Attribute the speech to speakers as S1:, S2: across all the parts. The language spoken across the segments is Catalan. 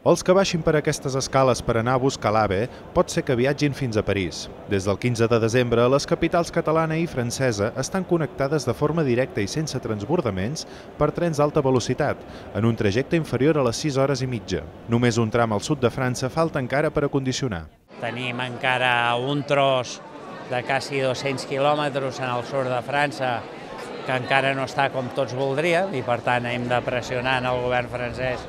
S1: Els que baixin per aquestes escales per anar a buscar l'AVE pot ser que viatgin fins a París. Des del 15 de desembre, les capitals catalana i francesa estan connectades de forma directa i sense transbordaments per trens d'alta velocitat, en un trajecte inferior a les 6 hores i mitja. Només un tram al sud de França falta encara per acondicionar.
S2: Tenim encara un tros de quasi 200 quilòmetres en el sud de França que encara no està com tots voldríem i per tant hem de pressionar el govern francès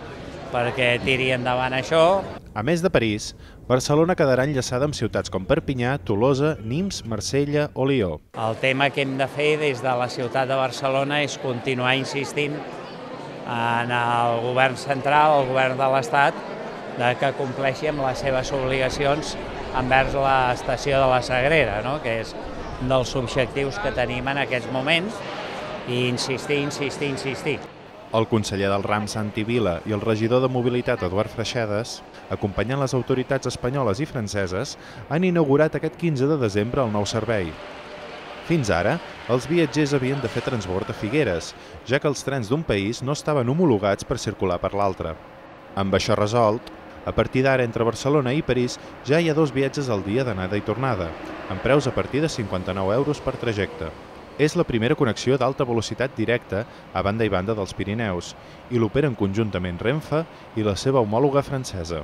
S2: perquè tiri endavant això.
S1: A més de París, Barcelona quedarà enllaçada amb ciutats com Perpinyà, Tolosa, Nimes, Marsella o Lió.
S2: El tema que hem de fer des de la ciutat de Barcelona és continuar insistint en el govern central, el govern de l'Estat, que compleixi amb les seves obligacions envers l'estació de la Sagrera, que és un dels objectius que tenim en aquests moments, i insistir.
S1: El conseller del RAM, Santi Vila, i el regidor de Mobilitat, Eduard Freixedes, acompanyant les autoritats espanyoles i franceses, han inaugurat aquest 15 de desembre el nou servei. Fins ara, els viatgers havien de fer transbord a Figueres, ja que els trens d'un país no estaven homologats per circular per l'altre. Amb això resolt, a partir d'ara entre Barcelona i París ja hi ha 2 viatges al dia d'anada i tornada, amb preus a partir de 59 euros per trajecte. És la primera connexió d'alta velocitat directa a banda i banda dels Pirineus i l'operen conjuntament Renfe i la seva homòloga francesa.